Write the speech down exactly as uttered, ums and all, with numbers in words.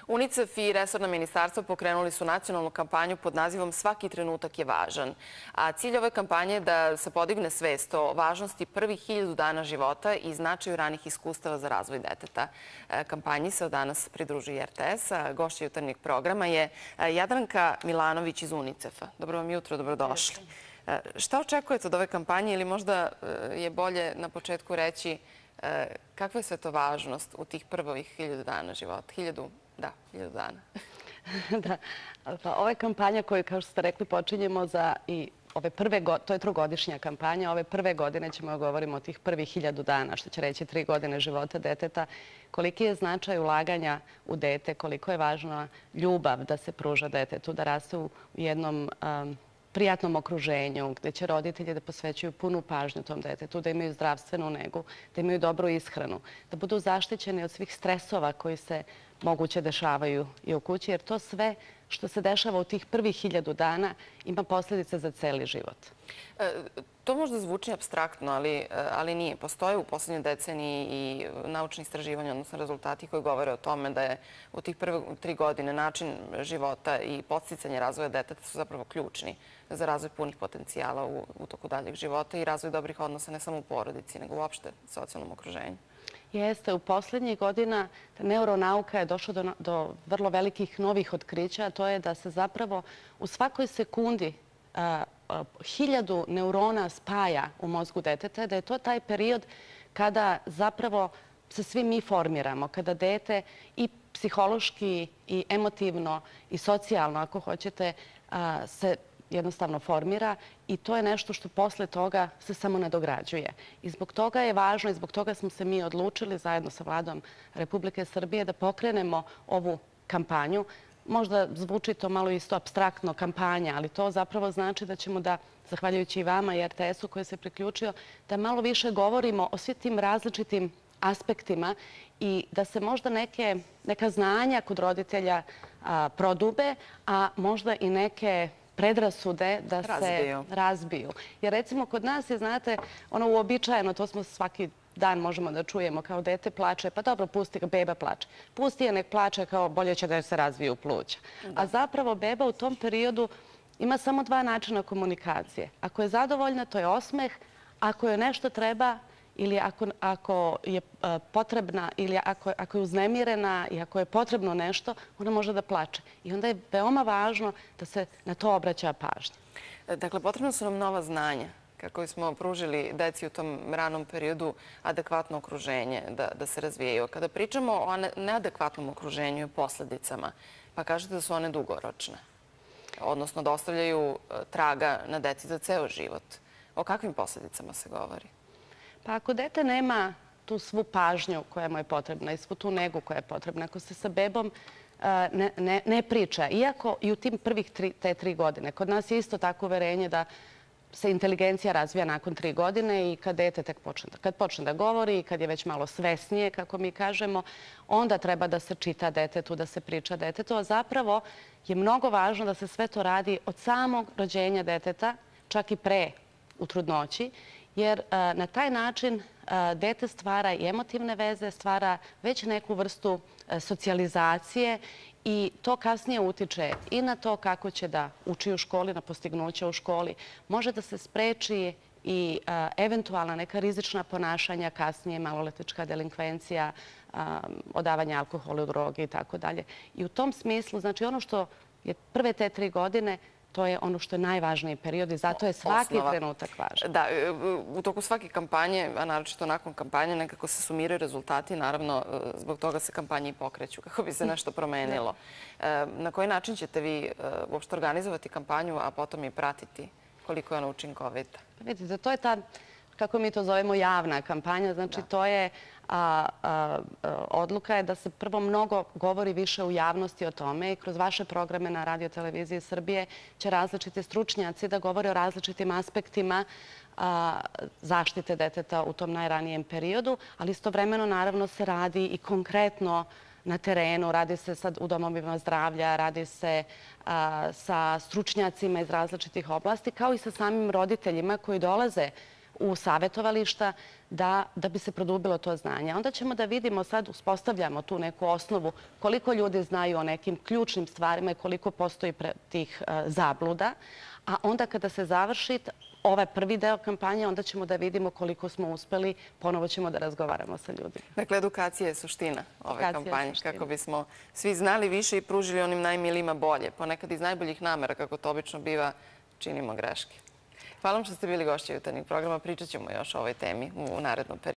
UNICEF i resorna ministarstva pokrenuli su nacionalnu kampanju pod nazivom Svaki trenutak je važan. A cilj ove kampanje je da se podigne svest o važnosti prvih hiljadu dana života i značaju ranih iskustava za razvoj deteta. Kampanji se od danas pridružuje R T S, a gošća jutarnjeg programa je Jadranka Milanović iz UNICEF-a. Dobro vam jutro, dobrodošli. Šta očekujete od ove kampanje ili možda je bolje na početku reći kakva je sve to važnost u tih prvih hiljadu dana života? Hiljadu, da, hiljadu dana. Da, pa ova kampanja koju, kao što ste rekli, počinjemo za i ove prve, to je trogodišnja kampanja, ove prve godine ćemo govoriti o tih prvih hiljadu dana, što će reći tri godine života deteta, koliki je značaj ulaganja u dete, koliko je važna ljubav da se pruža detetu, da raste u jednom um, prijatnom okruženju, gdje će roditelji da posvećuju punu pažnju tom detetu, da imaju zdravstvenu negu, da imaju dobru ishranu, da budu zaštićeni od svih stresova koji se moguće dešavaju i u kući, jer to sve što se dešava u tih prvih hiljadu dana ima posljedice za celi život. E, to možda zvuči apstraktno, ali, ali nije. Postoje u posljednjoj deceniji i naučni istraživanja, odnosno rezultati koji govore o tome da je u tih prve tri godine način života i podsticanje razvoja deteta su zapravo ključni za razvoj punih potencijala u, u toku daljeg života i razvoj dobrih odnosa ne samo u porodici, nego uopšte u socijalnom okruženju. Jeste, u posljednjih godina neuronauka je došla do, do vrlo velikih novih otkrića, a to je da se zapravo u svakoj sekundi a, a, hiljadu neurona spaja u mozgu deteta, da je to taj period kada zapravo se svi mi formiramo, kada dete i psihološki i emotivno i socijalno, ako hoćete, a, se jednostavno formira i to je nešto što posle toga se samo nadograđuje. I zbog toga je važno i zbog toga smo se mi odlučili zajedno sa Vladom Republike Srbije da pokrenemo ovu kampanju. Možda zvuči to malo isto apstraktno kampanja, ali to zapravo znači da ćemo da, zahvaljujući i vama i R T S-u koji se priključio, da malo više govorimo o svim tim različitim aspektima i da se možda neke, neka znanja kod roditelja a, prodube, a možda i neke predrasude da se razbiju. razbiju. Jer recimo kod nas je, znate, ono uobičajeno, to smo svaki dan možemo da čujemo, kao dete plače, pa dobro, pusti ga, beba plače. Pusti je, nek plače, kao bolje će da se razviju pluća. Da. A zapravo beba u tom periodu ima samo dva načina komunikacije. Ako je zadovoljna, to je osmeh. Ako je nešto treba ili ako, ako je uh, potrebna ili ako, ako je uznemirena i ako je potrebno nešto, ona može da plače. I onda je veoma važno da se na to obraća pažnja. Dakle, potrebno su nam nova znanja kako bismo pružili deci u tom ranom periodu adekvatno okruženje da, da se razvijaju. Kada pričamo o neadekvatnom okruženju i posljedicama, pa kažete da su one dugoročne, odnosno da ostavljaju traga na deci za ceo život. O kakvim posljedicama se govori? Pa ako dete nema tu svu pažnju koja mu je potrebna i svu tu negu koja je potrebna, ako se sa bebom ne, ne, ne priča, iako i u tim prvih tri, te tri godine, kod nas je isto tako uverenje da se inteligencija razvija nakon tri godine i kad dete tek počne, kad počne da govori i kad je već malo svesnije, kako mi kažemo, onda treba da se čita detetu, da se priča detetu, a zapravo je mnogo važno da se sve to radi od samog rođenja deteta, čak i pre u trudnoći, jer na taj način dete stvara i emotivne veze, stvara već neku vrstu socijalizacije i to kasnije utiče i na to kako će da uči u školi, na postignuća u školi. Može da se spreči i eventualna neka rizična ponašanja, kasnije maloletnička delinkvencija, odavanje alkohola, droge i tako dalje. I u tom smislu, znači ono što je prve te tri godine, to je ono što je najvažniji period i zato je svaki Osnova. trenutak važan. Da, u toku svake kampanje, a naročito nakon kampanje, nekako se sumiraju rezultati. Naravno, zbog toga se kampanje i pokreću, kako bi se nešto promenilo. Na koji način ćete vi uopšte organizovati kampanju, a potom i pratiti koliko je ona učinkovita? Vidite, to je ta, kako mi to zovemo, javna kampanja. Znači, to je A, a, odluka je da se prvo mnogo govori više u javnosti o tome i kroz vaše programe na Radio Televiziji Srbije će različiti stručnjaci da govore o različitim aspektima a, zaštite deteta u tom najranijem periodu, ali istovremeno naravno se radi i konkretno na terenu, radi se sad u domovima zdravlja, radi se a, sa stručnjacima iz različitih oblasti, kao i sa samim roditeljima koji dolaze u savjetovališta da, da bi se produbilo to znanje. Onda ćemo da vidimo, sad uspostavljamo tu neku osnovu koliko ljudi znaju o nekim ključnim stvarima i koliko postoji pre, tih uh, zabluda. A onda kada se završi ovaj prvi deo kampanje, onda ćemo da vidimo koliko smo uspeli, ponovo ćemo da razgovaramo sa ljudima. Dakle, edukacija je suština ove Edukacija kampanje, suština. kako bismo svi znali više i pružili onim najmilijima bolje. Ponekad iz najboljih namera, kako to obično biva, činimo greške. Hvala vam što ste bili gošći Jutarnjeg programa. Pričat ćemo još o ovoj temi u narednom periodu.